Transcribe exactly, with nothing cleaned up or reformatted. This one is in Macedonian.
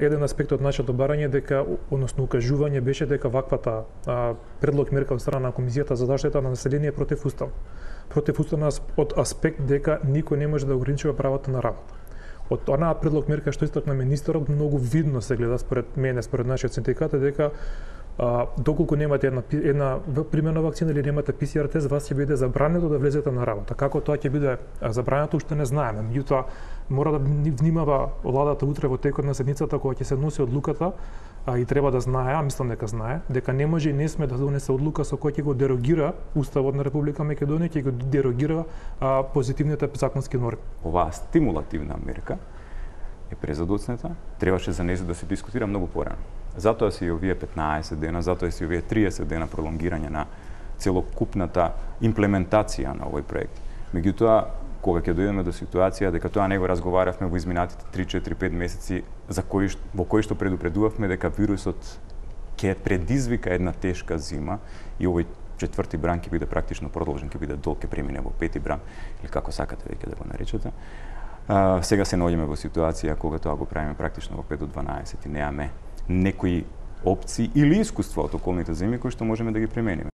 Еден аспект од нашето барање дека, односно укажување беше дека ваквата а, предлог мерка од страна на Комисијата за заштита на население е против устав. Против уставна од аспект дека никој не може да ограничува правото на работа. Од онаа предлог мерка што истакна министерот многу видно се гледа според мене, според нашиот синдикат е дека а, доколку немате една една примерна вакцина или немате пи си ар тест, вас ќе биде забрането да влезете на работа. Како тоа ќе биде забрането уште не знаеме. Меѓутоа мора да внимава владата утре во текот на седницата кога ќе се носи одлуката, а, и треба да знае, а мислам дека знае, дека не може и не сме да донесе одлука со која ќе го дерогира Уставот на Република Македонија, ќе го дерогира а, позитивните законски норми. Оваа стимулативна мерка е презадоцната, требаше за нејзо да се дискутира многу порано. Затоа се и овие петнаесет дена, затоа се и овие триесет дена пролонгирање на целокупната имплементација на овој проект. Меѓутоа, кога ќе дојдеме до ситуација дека тоа не го разговаравме во изминатите три, четири, пет месеци за кои во кои што предупредувавме дека вирусот ќе предизвика една тешка зима и овој четврти бран ќе биде практично продолжен, ќе биде дол, ќе премине во пети бран или како сакате веќе да го наречете. А, сега се наоѓаме во ситуација кога тоа го правиме практично во пет до дванаесет и немаме некои опции или искуство од околните земји кои што можеме да ги примениме.